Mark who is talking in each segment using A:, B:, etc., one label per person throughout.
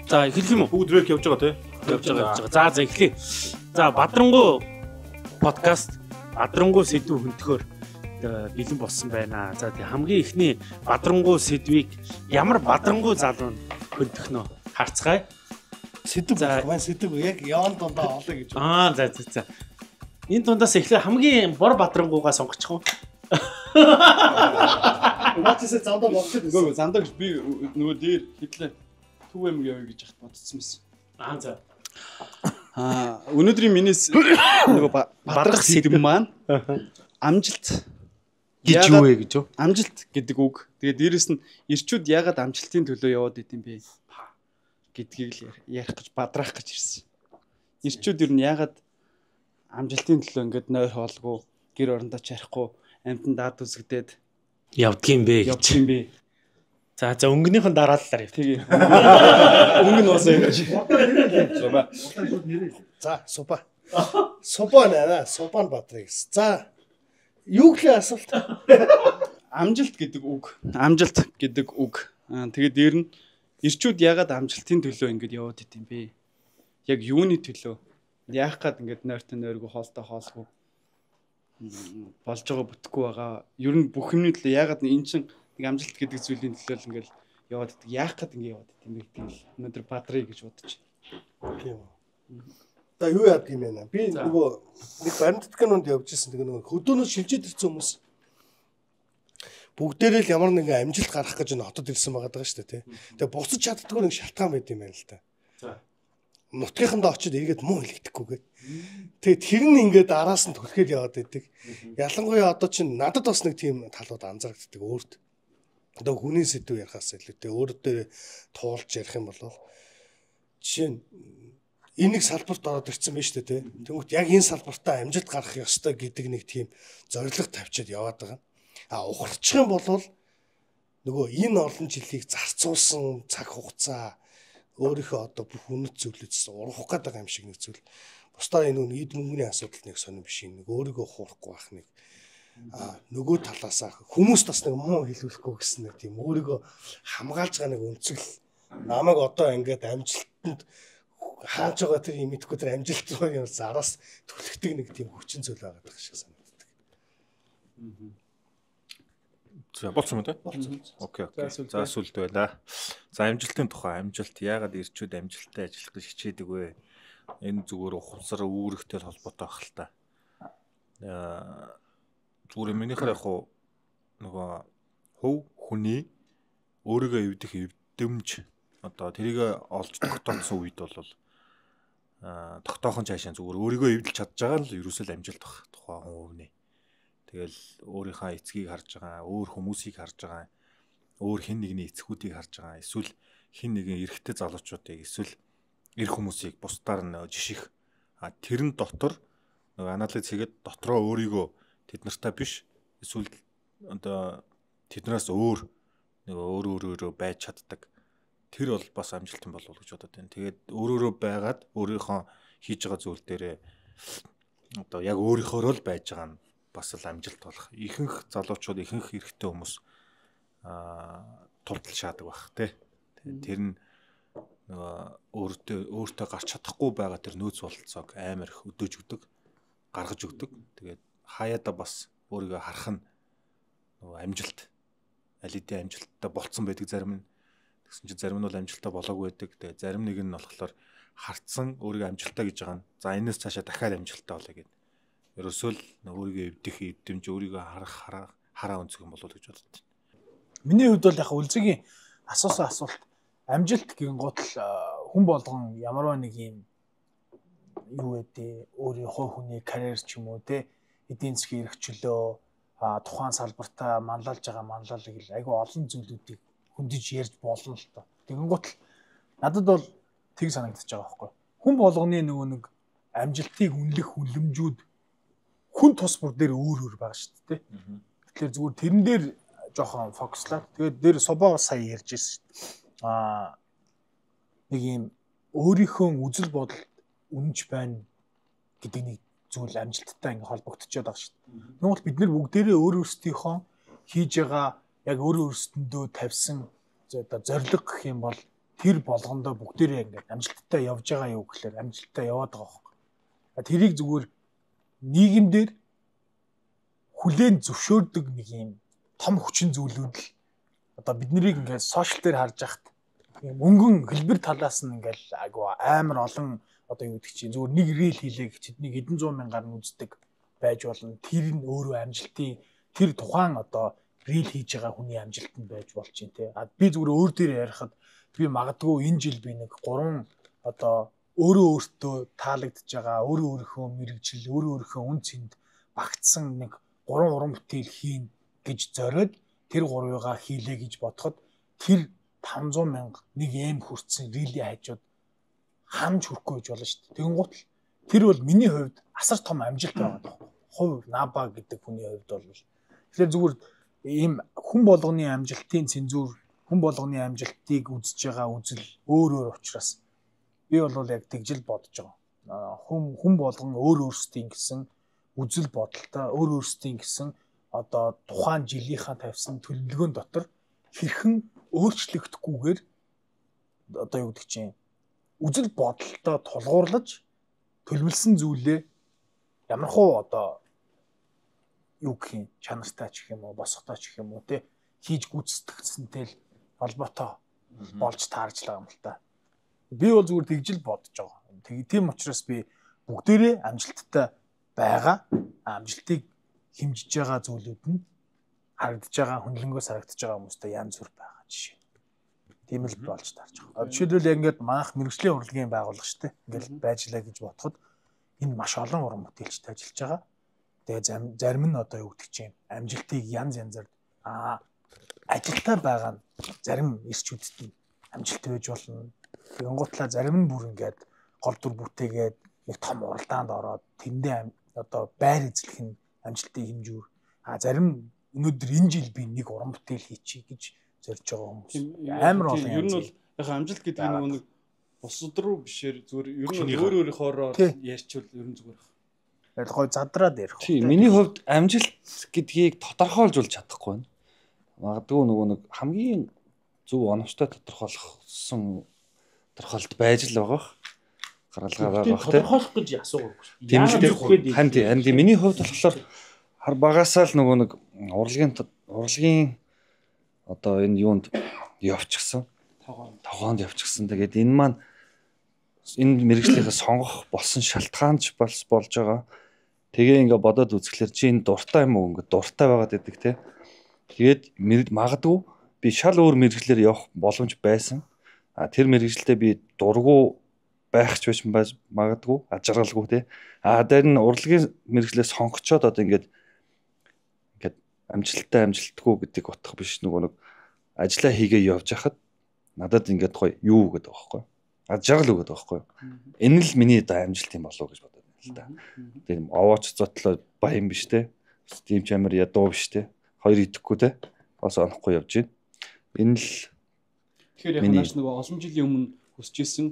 A: За эхлэх юм уу?
B: Бүгд рэк явж байгаа тий.
A: Явж байгаа. За эхлэе. За Бадрангуй подкаст Бадрангуй сэдв хөнтөхөөр бэлэн болсон байна. За тэг хамгийн ихний Бадрангуй сэдвийг ямар Бадрангуй залуу хөнтөх нөө харцгаая.
C: Сэдв маань сэдв яг яон дундаа олё гэж.
A: За. Энэ дундаас эхлээ хамгийн бор Бадрангуйгаа сонгочих уу?
C: Наачихсан зандаа болчихсон.
D: Нөгөө зандаа гэж би нөгөө дээр хэдлээ төв юм явъя гэж хат бодсон байсан.
A: За.
D: Өнөөдрийн минийс нөгөө бадрах сэдв маань амжилт
A: гэж юу вэ гэж юу?
D: Амжилт гэдэг үг. Тэгээд дээрэс нь ирчүүд яагаад амжилтын төлөө яваад идэм бэ гэдгийг л ярих гэж бадраах гэж ирсэн. Ирчүүд ер нь яагаад амжилтын төлөө ингээд нойр хоолгүй, гэр орондоо чарахгүй, амьтан даад үзэгдээд
A: явдгийм бэ гэж. За өнгөнийхэн дараалалаар яв.
D: Тэгээ. Өнгө нь уусаа юм шиг.
C: За, супа. Супа нэ, супан Бадрыг. За. Юу гэхээ асуулт?
D: Амжилт гэдэг үг. Амжилт гэдэг үг. Тэгээд дээр нь ирчүүд яагаад амжилтын төлөө ингэж яваад идэм бэ? Яг юуны төлөө? Яах гээд ингэж нойртой нойргүй хоолтой хоолгүй болж байгаа бүтэхгүй байгаа. Ер нь бүх юмны төлөө яагаад энэ чинь нэг амжилт гэдэг зүйлийн төлөө л ингээл яваад идэг. Яах гээд ингэ яваад идэм бэ гэдгийг л өнөөдөр бадрыг гэж бодож байна.
C: Тийм үү. За юу яадаг юм бэ? Би нөгөө нэг баримтдганд явж ирсэн. Тэгээ нөгөө хөдөөнөөс шилжээд ирсэн хүмүүс бүгдээрээ л ямар нэгэн амжилт гарах гэж энэ хотод ирсэн байгаа даа шүү дээ, тий. Тэгээ буцаж чаддгүй нэг шалтгаан байд юм байна л да.
A: За.
C: Нутгийнхандаа очиод эргээд муу хэлэгдэхгүйгээд. Тэгээ тэр нь ингээд араас нь түлхээд яваад идэг. Ялангуяа одоо чинь надад бас нэг тийм талууд анзаарэгддэг өөрт. Одоо хүний сэдв ярихаас илүүтэй өөртөө туулж ярих юм бол жишээ нь энийг салбарт ороод ирсэн байж тээ. Тэгвэл яг энэ салбартаа амжилт гарах ёстой гэдэг нэг тийм зорилго тавьчаад яваад байгаа. Ухарчих юм бол нөгөө энэ олон жилийг зарцуулсан цаг хугацаа өөрийнхөө одоо бүх үнэт зүйлээс урах гээд байгаа юм шиг нэг зүйл. Бусдаа энэ эд мөнгөний асуудал нэг сонирн биш нэг өөрийгөө хуурахгүй байх нэг нөгөө талаасаа хүмүүст бас нэг муу хэлүүлэхгүй гэсэн нэг тийм өөрийгөө хамгаалж байгаа нэг өнцгөл намайг одоо ингээд амжилтанд хааж байгаа тэр юм идэхгүй тэр амжилт руу юм зараас түлхдэг нэг тийм хүчин зүйл байгаа гэх шиг санагддаг.
B: За болцсон юм тий?
C: Болцсон.
B: Окей. За сүлд байла. За амжилтын тухай амжилт яагаад ирчүүд амжилттай ажиллах гэж хичээдэг вэ? Энэ зүгээр ухамсар үүрэгтэй холбоотой байх л та. Зүгээр минийхэр яг нөгөө хөв хүний өөрийгөө эвдэх эвдэмж одоо тэрийг олж тогтооцсон үед бол тогтоохон цаашаа зүгээр өөрийгөө эвдэлж чадж байгаа л ерөөсөө амжилт бах тухайн хувийн. Тэгэл өөрийнхөө эцгийг харж байгаа, өөр хүмүүсийг харж байгаа, өөр хэн нэгний эцгүүдийг харж байгаа, эсвэл хэн нэгэн эрэгтэй залуучуудыг эсвэл эр хүмүүсийг бусдаар нь жиших. Тэрэн дотор нөгөө анализ хийгээд дотроо өөрийгөө тэд нартай биш эсвэл одоо тэднээс өөр нөгөө өөрөө байж чаддаг. Тэр бол бас амжилтын болов гэж бодод байна. Тэгээд өөрөөрөө байгаад өөрийнхөө хийж байгаа зүйл дээрээ одоо яг өөрийнхөө л байж байгаа нь бас л амжилт болох. Ихэнх залуучууд, ихэнх эрэгтэй хүмүүс тултал шаадаг байх тий. Тэр нь нөгөө өөртөө гарч чадахгүй байгаа тэр нөөц бололцоог амар их өдөөж өгдөг, гаргаж өгдөг. Тэгээд хаяада бас өөрийгөө харах нь нөгөө амжилт аль хэдийн амжилттай болцсон байдаг зарим нь. Тэгсэн чинь зарим нь бол амжилттай болоогүй байдаг. Тэгээд зарим нэг нь болохоор харцсан өөрийгөө амжилттай гэж байгаа нь. За энэс цаашаа дахиад амжилттай болоё гэдэг. Ерөөсөө л өөрийгөө эвдэх эвдэмж өөрийгөө хараа өнцөг юм болов уу гэж боддог.
E: Миний хувьд бол яг үлзгийн асуусан асуулт амжилт гин гутал хүн болгон ямарваа нэг юм юу гэдэг өөрийн хувь хүний карьер ч юм уу те эдийн засгийн эрхчлөө тухайн салбартаа манлайлж байгаа манлайлал айгүй олон зүйлүүдийг хөндөж ярьж болно л тоо. Тэгэн гутал надад бол тэг санагдаж байгаа байхгүй. Хүн болгоны нөгөө нэг амжилтыг үнэлэх хүлэмжүүд хүн тус бүр дээр өөр байгаа шүү дээ. Тэгэхээр зүгээр тэрэн дээр жоохон фокуслаад тэгээд дээр собоо сая ярьж ирсэн шүү дээ. Нэг юм өөрийнхөө үзэл бодол үнэнч байна гэдэг нэг зүйл амжилттай ингээ холбогдчиход байгаа шүү дээ. Тэгвэл бид нэр бүгдээрээ өөрөөсдийнхөө хийж байгаа яг өөрөө өөрсдөндөө тавьсан одоо зорилго гэх юм бол тэр болгондоо бүгдээрээ ингээд амжилттай явж байгаа юу гэхээр амжилттай яваад байгаа байхгүй. Тэрийг зүгээр нийгэмдэр хүлээн зөвшөөрдөг нэг юм том хүчин зүйлүүд л одоо биднийг ингээд сошиал дээр харж байхад мөнгөн хэлбэр талаас нь ингээд айгу амар олон одоо юу гэдэг чинь зүгээр нэг рил хийлээ гэхэд нэг хэдэн зуун мянгаар нь үздэг байж болно. Тэр нь өөрөө амжилтын тэр тухайн одоо рил хийж байгаа хүний амжилт нь байж болж чинь те. Би зүгээр өөр дээр ярихад би магадгүй энэ жил би нэг 3 одоо өөрөө өөртөө таалагдж байгаа өөрийнхөө мэрэгжил өөрийнхөө үн цэнд багтсан нэг 3 уран бүтээл хийн гэж зориод тэр 3-ыг хийлээ гэж бодоход тэр 500 мянга нэг эм хүрсэн рили хажууд хамж хүрэхгүй гэж болно шүү дээ. Тэгэнгუთ тэр бол миний хувьд асар том амжилт байгаа даа. Хувь наба гэдэг хүний хувьд бол тэгэхээр зүгээр ийм хүн болгоны амжилтын цензур хүн болгоны амжилтыг үзэж байгаа үзэл өөр учраас би бол яг тэгжил бодож байгаа. Хүн болгон өөрсдийн гэсэн үзэл бодолтой өөрсдийн гэсэн одоо тухайн жилийнхаа тавьсан төлөвлөгөөн дотор хэрхэн өөрчлөгдөхгүйгээр одоо юу гэдэг чинь үзэл бодолтой тулгуурлаж төлөвлөсөн зүйлээ ямархуу одоо юу гэх юм чанартай ч гэх юм уу босготой ч гэх юм уу те хийж гүйцэтгэсэнтэй л холбоотой болж таарч байгаа юм л та. Би бол зүгээр тэгжил бодож байгаа. Тийм учраас би бүгдээрээ амжилттай байгаа. Амжилтыг хэмжиж байгаа зүйлүүд нь харагдаж байгаа хүнлэнгөөс харагдаж байгаа хүмүүстэй янз бүр байгаа жишээ. Тийм л болж таарч байгаа. Жишээлбэл яг ингээд манайх мэрэгжлийн урлагийн байгууллага шүү дээ. Ингээд байжлаа гэж бодоход энэ маш олон уран бүтээлчтэй ажиллаж байгаа. Тэгээ зарим нь одоо юу гэдэг чинь амжилтыг янз янзаар ажилтаа байгаа нь зарим ирчүүдэд нь амжилт байж болно. Тэгэнгუтлаа зарим нь бүр ингээд гол дүр бүтээгээд нэг том уралдаанд ороод тэндээ одоо байр эзлэх нь амжилтын хэмжүүр. Зарим өнөөдөр энэ жил би нэг уран бүтээл хийчихье гэж зорж байгаа хүмүүс амар олон.
D: Ер нь бол яг амжилт гэдэг нь нэг бусад руу бишээр зүгээр ер нь өөр өөрийнхоороо ярьчвал ер нь зүгээр.
E: Яг гой задраад ярих.
F: Тийм миний хувьд амжилт гэдгийг тодорхойлж болж чадахгүй байна. Магадгүй нөгөө нэг хамгийн зөв оновчтой тодорхойлох байж л байгаа. Гаргалгаа байгаа бах тийм.
A: Тодорхойлох гэж асуугаагүй шүү.
F: Тийм л ханди миний хувьд болохоор хар багасаа л нөгөө нэг урлагийн одоо энэ юунд явчихсан. Тогоонд явчихсан. Тэгээд энэ маань энэ мэрэгжлийнхээ сонгох болсон шалтгаан ч болж байгаа. Тэгээ ингээ бодоод үзэхлээр чи энэ дуртай юм уу ингээ дуртай байгаад байдаг те. Тэгээд магадгүй би шал өөр мэрэгжлээр явах боломж байсан. Тэр мэрэгжлдээ би дургу байх ч байж магадгүй ажралгүй те. Тэр нь урлагийн мэрэгжлээс сонгочоод одоо ингээд амжилтгүй гэдэг утга биш нөгөө нэг ажиллаа хийгээ явж хахад надад ингээд гоё юу гэдэг байгаа байхгүй. Ажрал өгöd байгаа байхгүй. Энэ л миний одоо амжилт юм болов уу гэж бодоод байна л да. Тийм овооч зотлоо баян биш те. Тийм ч амар ядуу биш те. Хоёр идэхгүй те. Бас онохгүй явж байна. Энэ л
D: тэгэхээр яг нааш нөгөө олон жилийн өмнө хүсэж исэн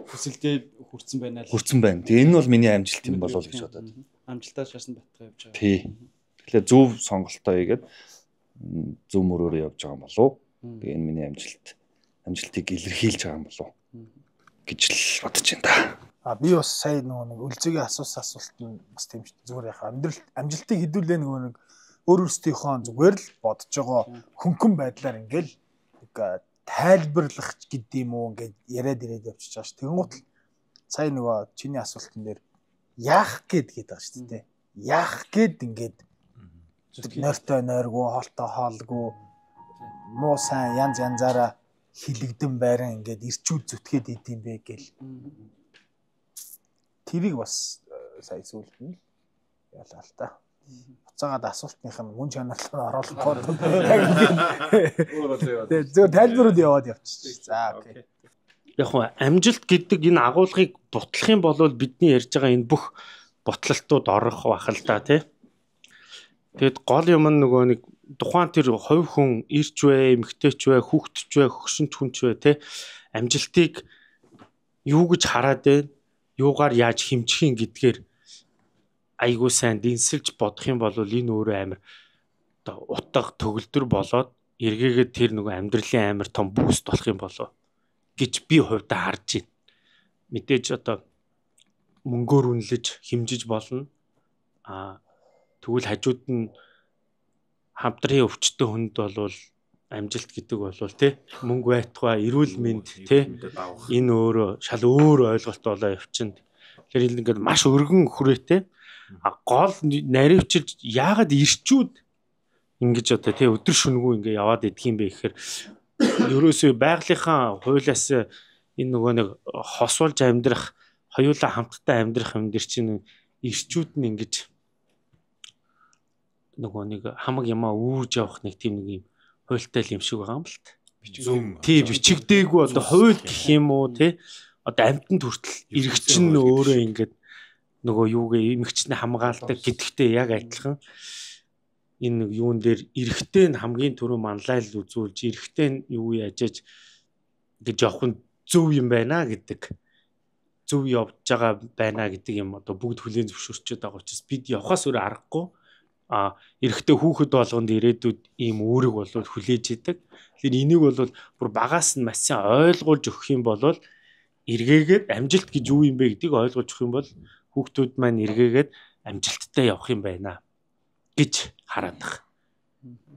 D: хүсэлдээ хүрсэн байна л.
F: Хүрсэн байна. Тэгээ энэ бол миний амжилт юм болов уу гэж бодоод.
D: Амжилтаа шаасан батгаа явж байгаа.
F: Тий. Тэгэхээр зөв сонголтоо хийгээд зөв мөрөөрөө явж байгаа юм болов. Тэгээ энэ миний амжилтыг илэрхийлж байгаа юм болов гэж л бодож байна да.
E: Би бас сая нөгөө нэг үлзэгийн асуулт нь бас тийм шүү. Зүгээр яхаа амжилтыг хэдүүлээ нөгөө нэг өөрөөсдийнхөө зүгээр л бодож байгаа хөнгөн байдлаар ингээл тайлбарлах гэдэг юм уу ингээд яриад ирээд явчихж байгаа ш. Тэгэнгუთ сая нөгөө чиний асуултан дээр яах гээд байгаа ш тий. Яах гээд ингээд нойртой нойргүй хоолтой хоолгүй муу сайн янзаараа хилэгдэн байран ингээд ирчүүд зүтгээд идэм бэ гэл. Тэрийг бас сая сүлд нь ялаа л та. Буцаагаад асуултных нь мөн чанарлаа оруулахгүй. Зөв тайлбарууд яваад явчих. За окей.
A: Яг хөө амжилт гэдэг энэ агуулгыг бутлах юм бол бидний ярьж байгаа энэ бүх бутлалтууд орох бах л да тий. Тэгэд гол юм нөгөө нэг тухайн тэр хувь хүн ирч вэ, эмэгтэйч вэ, хүүхдч вэ, хөгшинч хүнч вэ тий. Амжилтыг юу гэж хараад байна? Юугаар яаж хэмжих юм гэдгээр айгуу сайн дэнсэлж бодох юм бол энэ өөрөө амар оо утга төгөлдөр болоод эргээгээд тэр нөгөө амьдралын амар том бүүст болох юм болоо гэж би хувьдаа харж байна. Мэдээж одоо мөнгөөр үнэлж хэмжиж болно. Тэгвэл хажууд нь хамтрын өвчтөн хүнд бол амжилт гэдэг бол тий мөнгө байтугай эрүүл мэнд тий энэ өөрөө шал өөр ойлголт болоо явчихна. Тэгэхээр ингээд маш өргөн хүрээтэй гол наривчилж яагаад ирчүүд ингэж одоо тий өдөр шөнөгүй ингээ яваад идэх юм бэ гэхээр ерөөсөө байгалийнхаа хуулиас энэ нөгөө нэг хосуулж амьдрах хоёулаа хамтдаа амьдрах юм дэр чинь ирчүүд нь ингэж нөгөө нэг хамаг ямаа үүрж явах нэг тийм нэг юм хуйлтай юм шиг байгаа юм л та. Тий бичигдээгүй одоо хууль гэх юм уу тий одоо амьтанд хүртэл иргэчин өөрөө ингээд нөгөө юугээ эмэгчний хамгаалдаг гэдэгтэй яг адилхан энэ юун дээр эрэгтэй нь хамгийн түрүү манлайл үзүүлж эрэгтэй нь юу яажж гэж явах нь зөв юм байна гэдэг зөв явж байгаа байна гэдэг юм одоо бүгд хүлээн зөвшөөрчөд байгаа учраас бид явхаас өөр аргагүй эрэгтэй хүүхэд болгонд ирээдүйд ийм үүрэг бол хүлээж идэг. Тэгэхээр энийг бол бүр багаас нь маш сайн ойлгуулж өгөх юм бол эргээгээд амжилт гэж юу юм бэ гэдгийг ойлгуулж өгөх юм бол хүүхдүүд маань эргээгээд амжилттай явах юм байна гэж хараад байгаа.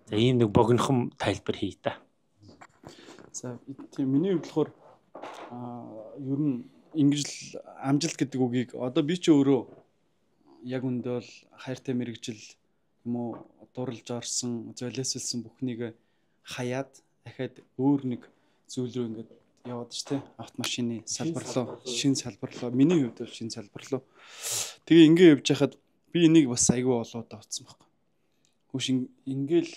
A: За ийм нэг богинохон тайлбар хий та.
D: За тийм миний хувьд болохоор ер нь ингэж л амжилт гэдэг үгийг одоо би ч өөрөө яг үндэ бол хайртай мэрэгжил юм уу дурлж орсон, золиослсон бүхнийг хаяад дахиад өөр нэг зүйл рүү ингээд яваад ш тэ автомашины салбар руу, шинэ салбар руу, миний хувьд бол шинэ салбар руу. Тэгээ ингээ явж хахад би энийг бас айгүй болоод авцсан байхгүй. Хөөш ингээл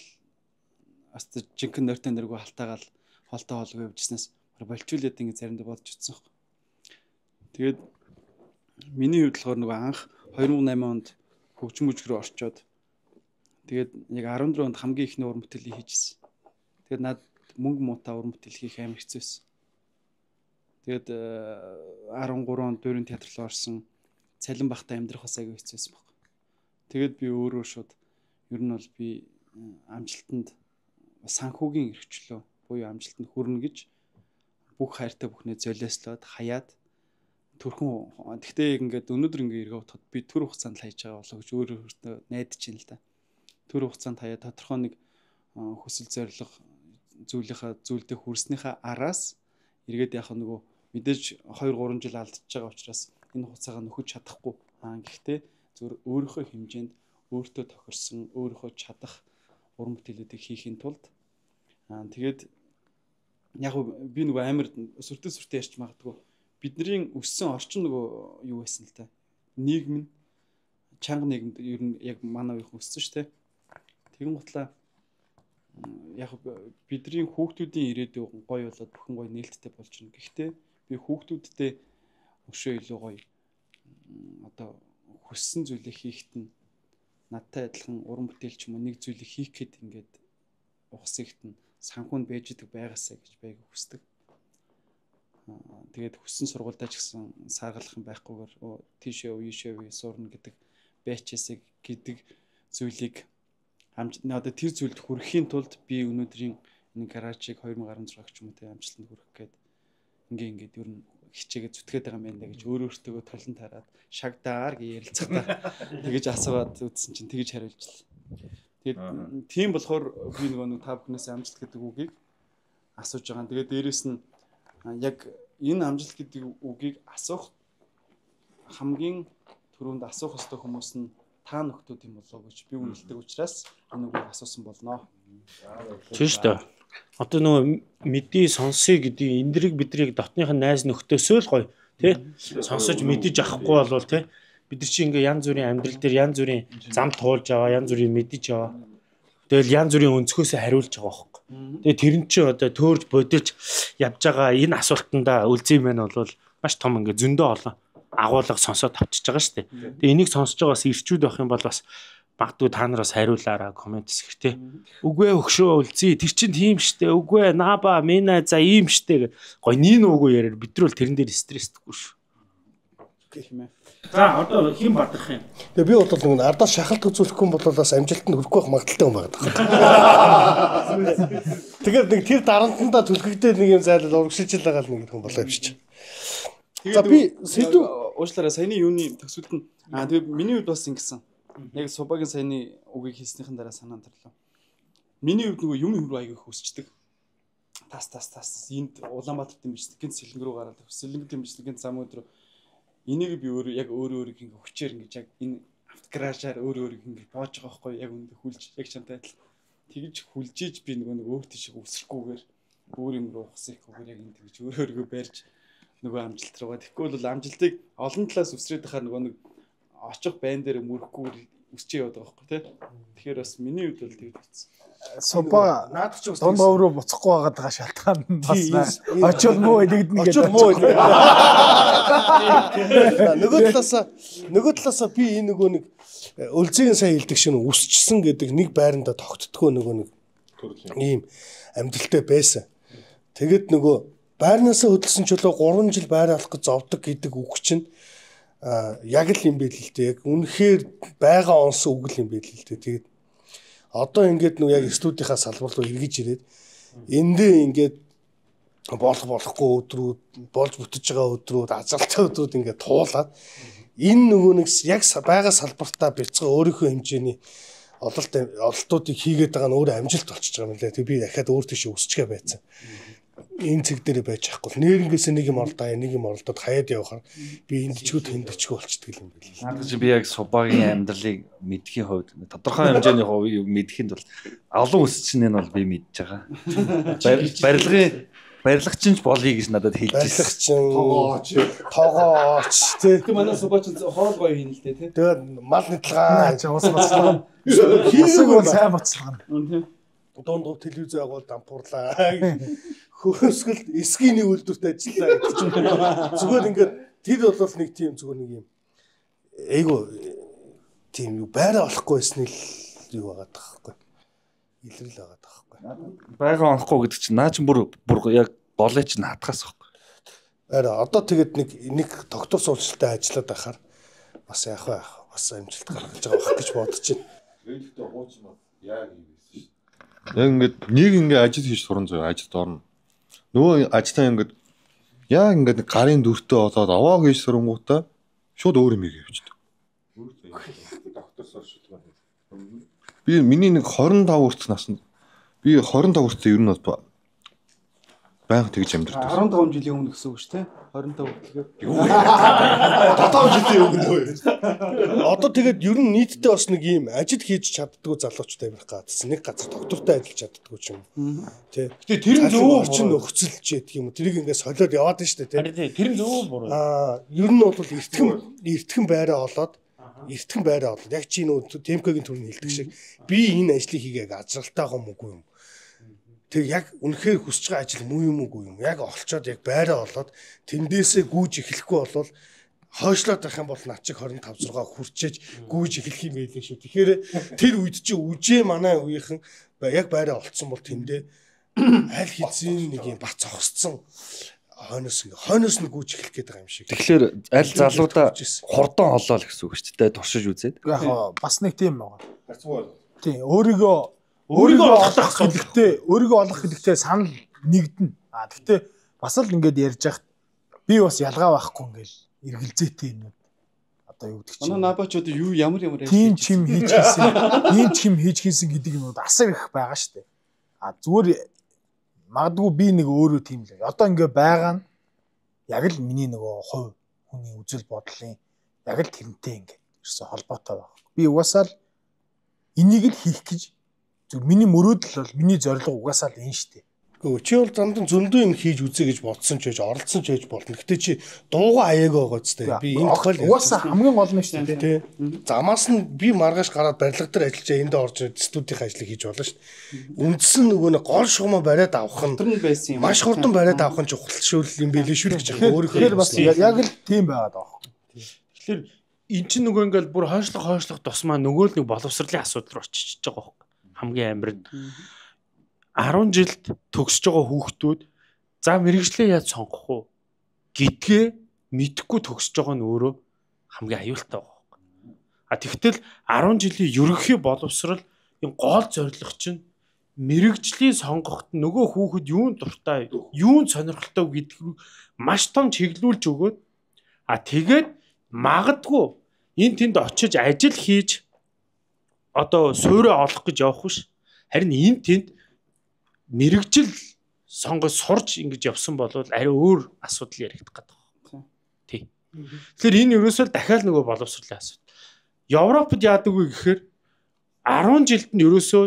D: аст жинхэнэ нойртой нэргүй халтаагаал холтой хоолгүй явжснаас болчуулаад ингээ заримдаа бодож утсан байхгүй. Тэгээд миний хувьд болохоор нөгөө анх 2008 онд хөгжим мужиг руу орчоод тэгээд яг 14 онд хамгийн ихний уран бүтээлийг хийжсэн. Тэгээд над мөнгө муутай уран бүтээл хийх амар хэцүү байсан. Тэгээд 13 онд Дөрвийн театр руу орсон. Цалин багтаа амьдрах бас аягүй хэцүү байсан байхгүй. Тэгээд би өөрөө шууд ер нь бол би амжилтанд санхүүгийн эрхчлөө буюу амжилтанд хүрнэ гэж бүх хайртай бүхнээ золиослоод хаяад төрхөн тэгтээ ингээд өнөөдөр ингээ эргээ утгад би төр хугацаанд хайж байгаа болоо гэж өөрөө найдаж байна л да. Төр хугацаанд хаяа тодорхой нэг хүсэл зорилго зүйлдээ хүрснийхаа араас эргээд яах нөгөө мэдээж 2-3 жил алдчихж байгаа учраас энэ хугацаагаа нөхөж чадахгүй. Гэхдээ зөв өөрийнхөө хэмжээнд өөртөө тохирсон, өөрийнхөө чадах уран бүтээлүүдийг хийхин тулд тэгээд яг би нөгөө амар сүртэй ярьж магадгүй бидний өссөн орчин нөгөө юу байсан л та. Нийгэм нь чанга нийгэмд ер нь яг манай үеийнх өссөн шүү дээ. Тэгэн гутлаа яг бидний хүүхдүүдийн ирээдүй гоё болоод бүхэн гоё нээлттэй болж байна. Гэхдээ би хүүхдүүдтэй өшөө илүү гоё одоо хүссэн зүйлээ хийхэд нь надтай адилхан уран бүтээл ч юм уу нэг зүйлийг хийх гээд ингээд ухсагт нь санхүүнд байж идэг байгаасаа гэж байг хүсдэг. Тэгээд хүссэн сургуультай ч гэсэн саргалах юм байхгүйгээр тийшээ үешээ сурна гэдэг байчаасаа гэдэг зүйлийг одоо тэр зүйлд хүрэхийн тулд би өнөөдрийн энэ гаражийг 2016 ч юм уу тэ амжилтанд хүрэх гээд ингээд ер нь хичээгээ зүтгээд байгаа юм байна гэж өөртөө толон тараад шагдаар гэж ярилцгахдаа тэгэж асууад үзсэн чинь тэгэж хариулжлаа. Тэгээд тийм болохоор би нэг та бүхнээс амжилт гэдэг үгийг асууж байгаа. Тэгээд дээрэс нь яг энэ амжилт гэдэг үгийг асуух хамгийн түрүүнд асуух ёстой хүмүүс нь та нөхдүүд юм болоо гэж би үнэлдэг учраас энэ үгийг асуусан болно.
A: Тийм шүү дээ. Одоо нөгөө мэдээ сонсъё гэдэг энэ дэрийг биднийг дотныхын найз нөхдөөсөө л гоё тий сонсож мэдэж авахгүй болвол тий бид нар чи ингээ янз бүрийн амьдрал дээр янз бүрийн зам туулж аваа янз бүрийн мэдэж аваа тэгэл янз бүрийн өнцгөөсөө хариулж байгаа байхгүй. Тэгээ тэр нь чи одоо төөрж бодож явж байгаа энэ асуултанда үлзий мэн бол маш том ингээ зөндөө олон агуулга сонсоод авчиж байгаа шүү дээ. Тэгээ энийг сонсож байгаас ирчүүд байх юм бол бас магадгүй та нараас хариулаараа комент хийх тий. Үгүй өгшөө үлзий тэр чин тийм штэ. Үгүй наба мина за ийм штэ гэх. Гой нин үгүй яриад бид нар бол тэрэн дээр стресстэйгүй шүү.
D: тийм ээ.
A: За одоо хэн бадрах юм?
C: Тэгээ би бол нэг ардаас шахалт үзүүлэхгүй юм бол бас амжилтанд хүрэхгүй байх магадaltaй юм байна. Тэгэхээр нэг тэр дарамтандаа түлхэгдээ нэг юм зайлал урагшилж байгаа л нэг юм болоо явчих. За би сэдв
D: уучлаарай саяны юуны төгсөлд нь тэгээ миний хувьд бас ингэсэн. Яг Субагийн саяны үгийг хэлснийхэн дараа санаанд орлоо. Миний хувьд нөгөө юм хөрөө аяг хөсчдөг. Тас энд Улаанбаатарт юм биш гэнт сэлэнг рүү гараад сэлэнгт юм биш гэнт зам өдрөө энийг би өөрөө ингэ хүчээр ингэж яг энэ автогаражаар өөрөө ингэ боож байгаа байхгүй яг үндэ хүлж яг чантай адил тэгж хүлжиж би нөгөө өөр тийш өсрөхгүйгээр өөр юм руу ухсахгүйгээр яг энэ тэгж өөрөөргөө барьж нөгөө амжилт руугаа тэгэхгүй бол амжилтыг олон талаас үсрээд байхаар нөгөө нэг очих байн дээр мөрөхгүйгээр үсчээ яваад байгаа байхгүй тий. Тэгэхээр бас миний хувьд бол тэгж байсан.
E: Суба наадах ч дундаа өөрөө буцахгүй байгаа шалтгаан нь бас очил муу элэгдэн гэдэг.
C: очил муу элэг. Нөгөө талаасаа би энэ нөгөө нэг өлзгийн сайн хэлдэг шиг үсчсэн гэдэг нэг байранда тогтдгоо нөгөө нэг ийм амьдралтай байсан. Тэгэд нөгөө байрнаасаа хөдөлсөн чөлөө 3 жил байр алах гэж зовдөг гэдэг үг чинь яг л юм байл л дээ. Яг үнэхээр байгаа онс үг л юм байл л дээ. Тэгээд одоо ингээд нөгөө яг студийнхаа салбар руу эргэж ирээд эндээ ингээд болохгүй өдрүүд болж бүтэж байгаа өдрүүд азалтай өдрүүд ингээд туулаад энэ нөгөө нэг яг байгаа салбартаа бяцгаа өөрийнхөө хэмжээний ололтуудыг хийгээд байгаа нь өөр амжилт болчихж байгаа юм лээ. Тэг би дахиад өөр тийш өсчихэ байцсан. Энэ цэг дээр байж байхгүй. Нэрнгээс нэг юм оролдоод хаяад явахаар би эндчгүүд тэндчгүү болчихдаг юм байл.
F: Надад чи би яг Субагийн амьдралыг мэдхийн хувьд тодорхой хэмжээний хувийг мэдхэнд бол олон өсчнээ нь бол би мэдж байгаа. Барилгач болъё гэж надад хэлж
C: байсан. Тогооч тий.
D: Тэг манай Субач хоол гоё хийн л дээ тий.
C: Тэгээд мал нэтлгаа
E: ус боцлогоо. Хийсэг сайн боцлогоо.
C: Дунд телевиз агуул дампуурлаа. Хөөсгөл эсгийн үйлдвэрт ажиллаа гэж байна. Зүгээр ингээд тэр бол нэг тийм зүгээр нэг юм айгу тийм юу байраа олохгүй байсны л юу байгаа таахгүй. Илрэл байгаа таахгүй.
F: Байга онохгүй гэдэг чинь наа чи бүр яг голыг чинь хатгаас байхгүй.
C: Араа одоо тэгээд нэг доктор суулжтай ажиллаад байхаар бас яах вэ? Бас амжилт гаргаж байгаа байх гэж бодож байна.
B: Тэгэхдээ хуучин бол яг юм байсан шүү дээ. Яг ингээд нэг ингээд ажил хийж суран зөө ажилд орно. Нөгөө ажлаа ингээд яг ингээд гарын дүртээ олоод аваа хийж сурангуудаа шууд өөр юм хийвчдэг. Доктор суулжтай. Би миний нэг 25 хүртэл наснд би 25 хүртэл ер нь бол байнга тэгж амьдэрдэг.
D: 15 жилийн өмнө гэсэн үг шүү дээ. 25 хүртэлгээр.
C: 7 жилийн өмнө үү. Одоо тэгээд ер нь нийтдээ бас нэг юм ажил хийж чаддгүй залуучтай байх гадсан. Нэг газар доктортай ажиллаж чаддгүй ч юм. Тэ. Гэтэ тэр нь зөв орчин нөхцөлж ядг юм. Тэрийг ингээд солиод яваад нь шүү дээ. Тэ.
A: Тэр нь зөв буруу.
C: Ер нь бол эртхэн байраа олоод яг чи нөө Темкогийн төрний хэлдэг шиг би энэ ажлыг хийгээд ажралтай байгаа юм уу юм. Тэг яг үнэхээр хүсэж байгаа ажил муу юм уу юм. Яг олцоод яг байраа олоод тэндээсээ гүйж эхлэхгүй болвол хойшлоод байх юм бол над чиг 25 6 хүрчээж гүйж эхлэх юм байлээ шүү. Тэгэхээр тэр үед чи үжээ манай үеийнхэн яг байраа олцсон бол тэндээ аль хэзээ нэг юм бац зогсцсон хойноос нь гүйж эхлэх гээд байгаа юм шиг.
F: Тэгэхээр аль залуудаа хурдан олоо л гэсэн үг шүү дээ. Туршиж үзээд.
E: Яг бас нэг тийм байгаа. Тийм өөрийгөө олох хэлэхдээ санал нэгдэнэ. Гэхдээ бас л ингээд ярьж яхад би бас ялгаа байхгүй ингээл эргэлзээтэй юм. Одоо юу гэдэг чинь.
D: Манай набач одоо юу ямар
E: тийм чим хийж хийсэн гэдэг юм уу асар их байгаа шүү дээ. Зүгээр магадгүй би нэг өөрөө тийм л. Одоо ингээ байгаа нь яг л миний нөгөө хувь хүний үзэл бодлын яг л тэрнтэй ингээ ерөөсө холбоотой байна. Би угаасаа л энийг л хийх гэж зөв миний мөрөөдөл бол миний зорилго угаасаа л энэ шүү дээ.
C: Чи бол зандаа зөндөө юм хийж үзье гэж бодсон ч байж оролцсон ч байж болно. Гэтэ чи дууга аяаг байгаа ч дээ. Би энэ тохиол
E: угаасаа хамгийн гол нь шүү дээ.
C: Замаас нь би маргааш гараад барилга дээр ажиллаж энд орж студийн ажлыг хийж болно шүү дээ. Үндсэн нөгөө нэг гол шугамаа бариад авах нь маш хурдан бариад авах нь чухал шүүл юм байлээ шүү гэж байгаа.
E: Өөрөөр бас яг л тийм байгаад байгаа.
A: Тэгэхээр эн чинь нөгөө ингээл бүр хойшлох тусмаа нөгөө л нэг боловсролын асуудал руу очиж байгаа байхгүй. Хамгийн амар нь 10 жилд төгсөж байгаа хүүхдүүд за мэрэгжлээ яаж сонгох уу гэдгээ мэдхгүй төгсөж байгаа нь өөрөө хамгийн аюултай байгаа. Тэгтэл 10 жилийн ерөнхий боловсрал энэ гол зорилго чинь мэрэгжлийн сонгоход нөгөө хүүхэд юунд дуртай, юунд сонирхолтой гэдэг рүү маш том чиглүүлж өгөөд тэгээд магадгүй энэ тэнд очиж ажил хийж одоо суурь олох гэж явах биш. Харин энэ тэнд мэрэгжил сонгож сурж ингэж явсан бол арай өөр асуудал яригдах гэдэг байна. Тий. Тэгэхээр энэ ерөөсөө дахиад нөгөө боловсролын асуудал. Европод яадаг вэ гэхээр 10 жилд нь ерөөсөө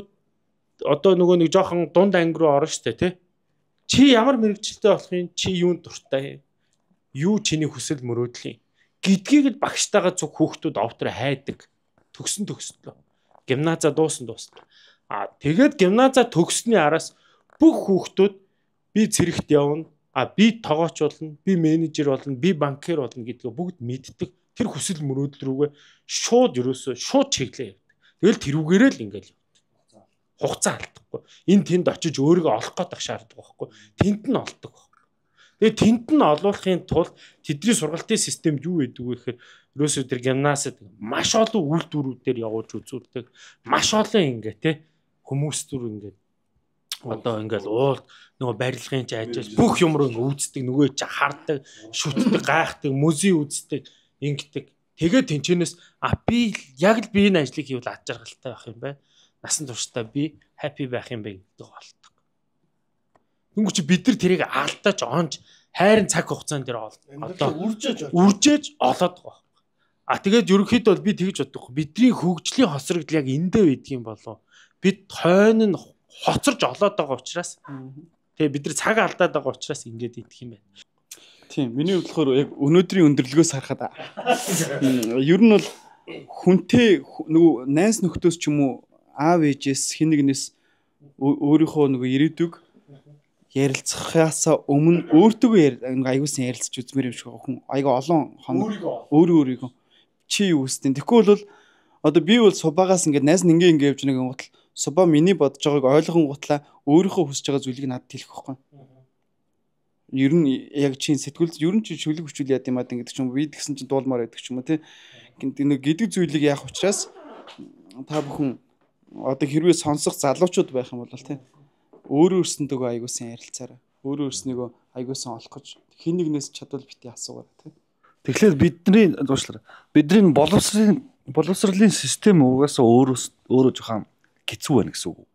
A: одоо нөгөө нэг жоохон дунд анги руу орно штэ тий. Чи ямар мэрэгчлээ болох юм? Чи юунд дуртай юм? Юу чиний хүсэл мөрөөдлийн гэдгийг л багштайгаа зөв хүүхдүүд овтор хайдаг. Төгслөө. Гимназа дуусна. Тэгээд гимназа төгссөний араас бүх хүүхдүүд би цэрэгт явна, би тоогооч болно, би менежер болно, би банкер болно гэдгээ бүгд мэддэг. Тэр хүсэл мөрөөдөл рүүгээ шууд чиглээ явдаг. Тэгэл тэрүүгээрээ л ингээл явдаг. Хугацаа алдахгүй. Энэ тэнд очиж өөрийгөө олох гэдэг шаарддаг байхгүй. Тэнд нь олдог. Тэгээ тэнд нь олуулахын тулд тэдний сургалтын системд юу гэдэг вэ гэхээр ерөөсөө тэр гимназид маш олон үйлдвэрүүдээр явуулж үзүүлдэг. Маш олон ингээ те хүмүүстүр ингээ одоо ингээл уул нөгөө барилгын ч ажил бүх юм руу ингээ үздэг, нөгөө чи хардаг, шүтдэг, гайхдаг, музей үздэг, ингэдэг. Тэгээд тэнчэнээс би яг л би энэ ажлыг хийвэл ад жаргалтай байх юм байна. Насан туршдаа би happy байх юм бэ гэдэг болдог. Тэнгүүр чи бид нар тэрийг алдаж онж хайрын цаг хугацаанд дээр одоо үржээж олоод байгаа. Тэгээд ерөнхийдөө бол би тэгж боддог. Бидний хөгжлийн хосрогдол яг эндээ байдгийн болов. Бид хойно нь хоцорж олоод байгаа учраас тэгээ бид нар цаг алдаад байгаа учраас ингэж идэх юм байна.
D: Тийм, миний бодлохоор яг өнөөдрийн өндөрлөгөөс харахад ер нь бол хүнтэй нөгөө найз нөхдөс ч юм уу аав ээжээс хин нэгнээс өөрийнхөө нөгөө ирээдүг ярилцахаас өмнө өөртөө аягуулсан ярилцж үзмээр юм шиг хүн аяга олон хоног өөрийгөө чи юу үстэн тэгэхгүй бол одоо би бол субагаас ингээд найз нь ингээ явж нэг гутал суба миний бодож байгааг ойлгон гутлаа өөрийнхөө хүсэж байгаа зүйлийг надад хэлэх байхгүй. Ер нь яг чинь сэтгүүл ер нь чи шүлэг хүчүүл яд юм аа гэдэг ч юм би тэгсэн чинь дуулмаар байдаг ч юм уу тий. Гэдэг зүйлийг яах учраас та бүхэн одоо хэрвээ сонсох залуучууд байх юм бол тий өөрөө өөрсөндөө аягуулсан ярилцаарай. Өөрөө өөрснийгөө аягуулсан олох гэж хин нэгнээс чадвал бити асуугаа тий.
F: Тэгэхээр бидний боловсролын систем угаасаа өөрөө жоохон хэцүү байна гэсэн үг.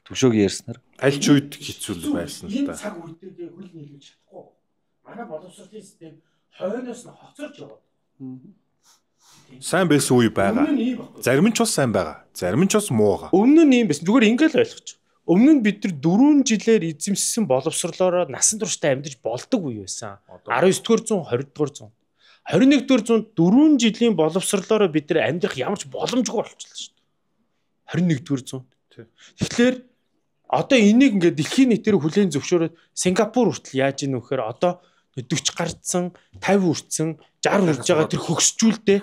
F: Төвшөөг ярьснаар
B: аль ч үед хэцүү байсан л
A: Энэ
B: та.
A: цаг үеийг хөл нийлүүлж чадахгүй. Манай боловсролын систем хойноос нь хоцорч яваад.
B: Сайн байсан үе байгаа. Зарим нь ч бас сайн байгаа. Зарим нь ч бас муу байгаа.
A: Өмнө нь юм байсан. Зүгээр ингээл ойлгоч. Өмнө нь бид нар 4 жилээр эзэмссэн боловсрлоороо насан туршдаа амьдж болдог үе байсан. 19-р зуун, 20-р зуун. 21-р зуунд 4 жилийн боловсрлоороо бид нар амьдрах ямар ч боломжгүй болчихлоо шүү дээ. 21-р зуунд. Тэгэхээр одоо энийг ингээд дэлхийн нийтээр хүлээн зөвшөөрөөд Сингапур хүртэл яаж ийн вэхээр одоо 40 гарцсан, 50 хүрсэн, 60 хүрж байгаа тэр хөгсчүүлдэ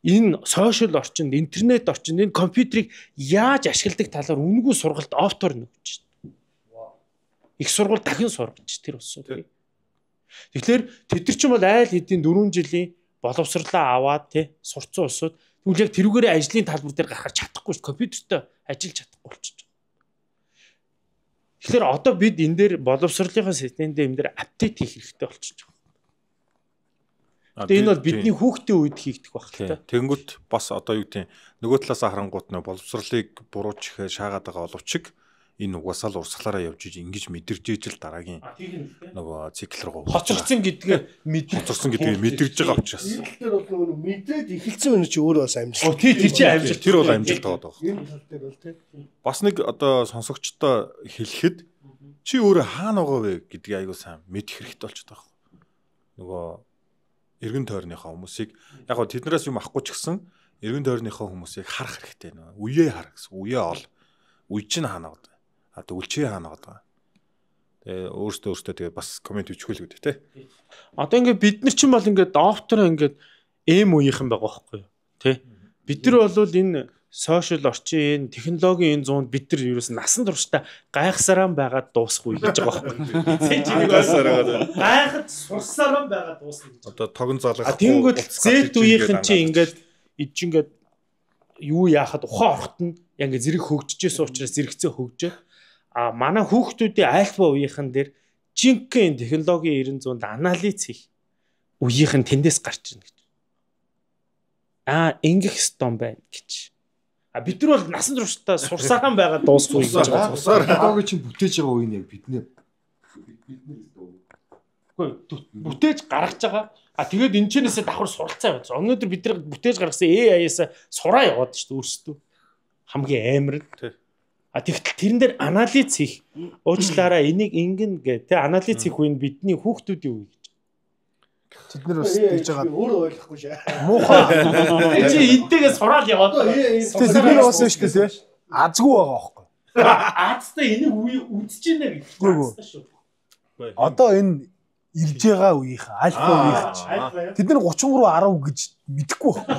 A: энэ сошиал орчинд, интернет орчинд энэ компьютерийг яаж ашигладаг талаар үнэгүй сургалт офтоор нөгч шүү дээ. Их сургууль дахин сургаж тэр усууд. Тэгэхээр тэд нар ч юм бол айл хэдийн 4 жилийн боловсрлаа аваад тий сурцсан усууд тэгвэл яг тэрүүгээрээ ажлын талбар дээр гарахаар чадахгүй шүү дээ. Компьютертэй ажиллаж чадахгүй болчихж байгаа. Тэгэхээр одоо бид энэ дээр боловсрлынхаа системд энэ дээр апдейт хийх хэрэгтэй болчихж байгаа. Тэгээ энэ бол бидний хүүхдийн үед хийгдэх байх л та.
B: Тэнгүүт бас одоо юу гэдэг нөгөө талаас харангуут нөө боловсрлыг бурууч ихэ шаагаад байгаа боловч энэ угаасаа л урсгалаараа явж иж ингэж мэдэрж ижил дараагийн нөгөө цикл руу
A: хоцорсон гэдгээ
B: мэдэрж байгаа учраас.
C: Тэр бол нөгөө мэдээд эхэлсэн үнэ чи өөрөө бас амжилт.
A: Тэр чинь амжилт.
B: Тэр бол амжилт байгаа даа.
C: Энэ тал дээр бол тий.
B: Бас нэг одоо сонсогчтой хэлэхэд чи өөрөө хаана байгаа вэ гэдгийг аягүй сайн мэдэх хэрэгтэй болчиход байгаа. Нөгөө эргэн тойрныхоо хүмүүсийг яг гоо тэднээс юм авахгүй ч гэсэн эргэн тойрныхоо хүмүүсийг харах хэрэгтэй нөө. Үеэ хар гэсэн. Үеэ ол. Үе чинь хаана гэдэг. Төвлчээ хаана гэдэг. Тэгээ өөртөө тэгээ бас комент бичгүүл гэдэг тий.
A: Одоо ингээд бид нар чинь бол ингээд доктор ингээд эм үеийнхэн байгаа байхгүй юу тий. Бид нар бол энэ сошиал орчин технологийн энэ зуунд бид нар ерөөс насан туршдаа гайхсараа байгаад дуусахгүй гэж байгаа байхгүй. Гайхад сурсараа байгаад дуусна гэж.
B: Одоо тогон залгах.
A: Тэнгүүд зэт үеийнхэн чинь ингээд юу яахад ухаан орхот нь яг ингээд зэрэг хөгжижсэн учраас зэрэгцээ хөгжөөд манай хүүхдүүдийн альфа үеийнхэн дээр жинхэнэ технологийн 90 зуунд анализ хийх үеийнхэн тэндээс гарч ирнэ гэж. Ингэх стон байна гэж. Бид нар бол насан туршдаа сурсараа байгаад дуусгүй гэж байгаа.
F: Технологи чинь бүтээж байгаа үе нь яг биднээ.
A: Бүтээж гаргаж байгаа. Тэгээд энэ чэнэсээ давхар суралцаа байж. Өнөөдөр бид нар бүтээж гаргасан AI-аас сураа яваад шүү дээ өөрсдөө. Хамгийн амар нь. Тэгтэл тэрэн дээр анализ хийх. Уучлаараа энийг ингэн гэ. Тэ анализ хийх үе нь бидний хүүхдүүдийн үе.
E: Тэд нар бас тэгж байгаа.
C: Өөрөө ойлгохгүй шээ.
E: Муухай.
A: Чи энтэйгээ сураад яваад.
E: Тэр бас шүү дээ. Азгүй байгаа байхгүй.
A: Аазтай энийг үзэж байна гэж.
E: Одоо энэ ирж байгаа үеийнхэн альфа үеийнхэн тэд нар 33 10 гэж мэдэхгүй байна.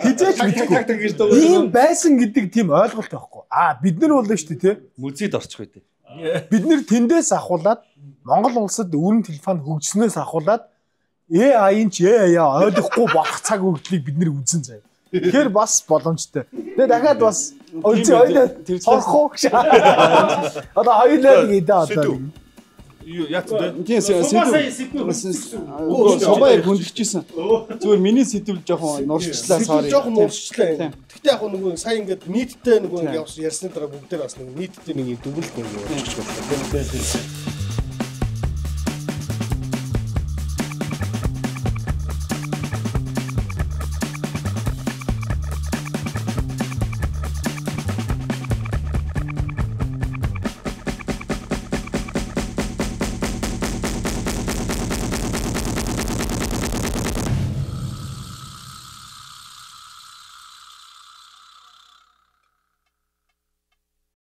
E: Хизээч мэдэхгүй. Ийм байсан гэдэг тийм ойлголт байхгүй. Бид нар бол шүү дээ тий.
F: Музейд орчих үү.
E: Бид нэр тэндээс ахуулаад Монгол улсад өрн телефон хөгжснөөс ахуулаад AI-ын ч AI ойлгохгүй болох цаг үргэлжлийг бид нэр үзэн заяа. Тэгэхээр бас боломжтой. Тэгээ дахиад бас ойлоо тэр цорхоо гэж. Одоо хоёулаа нэг идэ одоо.
B: Яц дээ.
D: Тийм собой хүндчихсэн. Зүгээр миний сэдвэл жоохон нурчлаа sorry.
C: Жоохон нурчлаа. Гэхдээ яг нөгөө сая ингээд нийтдээ нөгөө ингээд ярьсны дараа бүгдээр бас нэг нийтдээ нэг дүгнэлт нэг болчихж байна.